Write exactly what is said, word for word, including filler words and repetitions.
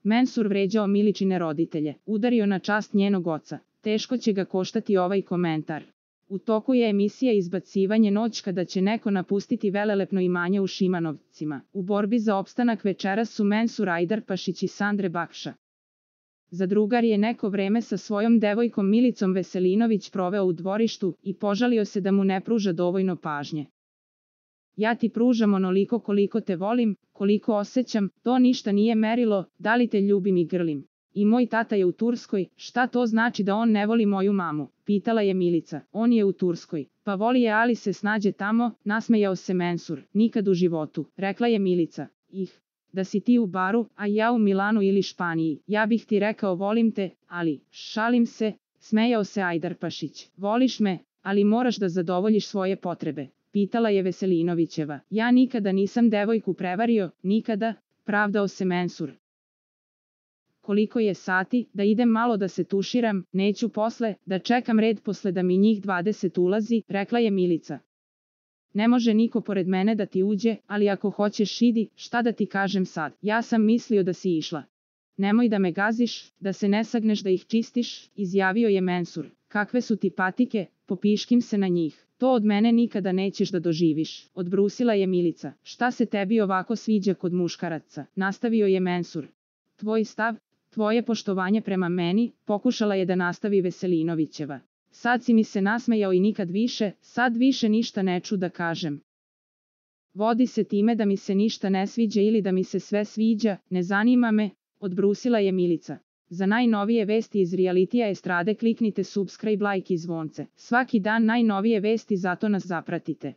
Mensur vređao Miličine roditelje, udario na čast njenog oca. Teško će ga koštati ovaj komentar. U toku je emisija Izbacivanje noć kada će neko napustiti velelepno imanje u Šimanovcima. U borbi za opstanak večeras su Mensur Ajdarpašić i Sandre Bakša. Zadrugar je neko vreme sa svojom devojkom Milicom Veselinović proveo u dvorištu i požalio se da mu ne pruža dovoljno pažnje. Ja ti pružam onoliko koliko te volim, koliko osjećam, to ništa nije merilo, da li te ljubim i grlim. I moj tata je u Turskoj, šta to znači da on ne voli moju mamu? Pitala je Milica. On je u Turskoj. Pa voli je, ali se snađe tamo, nasmejao se Mensur. Nikad u životu, rekla je Milica. Ih, da si ti u baru, a ja u Milanu ili Španiji, ja bih ti rekao volim te, ali, šalim se, smejao se Ajdarpašić. Voliš me, ali moraš da zadovoljiš svoje potrebe. Pitala je Veselinovićeva. Ja nikada nisam devojku prevario, nikada, pravdao se Mensur. Koliko je sati, da idem malo da se tuširam, neću posle, da čekam red posle da mi njih dvadeset ulazi, rekla je Milica. Ne može niko pored mene da ti uđe, ali ako hoćeš idi, šta da ti kažem sad, ja sam mislio da si išla. Nemoj da me gaziš, da se ne sagneš da ih čistiš, izjavio je Mensur. Kakve su ti patike, popiškim se na njih. To od mene nikada nećeš da doživiš, odbrusila je Milica. Šta se tebi ovako sviđa kod muškaraca, nastavio je Mensur. Tvoj stav, tvoje poštovanje prema meni, pokušala je da nastavi Veselinovićeva. Sad si mi se nasmejao i nikad više, sad više ništa neću da kažem. Vodi se time da mi se ništa ne sviđa ili da mi se sve sviđa, ne zanima me, odbrusila je Milica. Za najnovije vesti iz realitija estrade kliknite subscribe, like i zvonce. Svaki dan najnovije vesti, zato nas zapratite.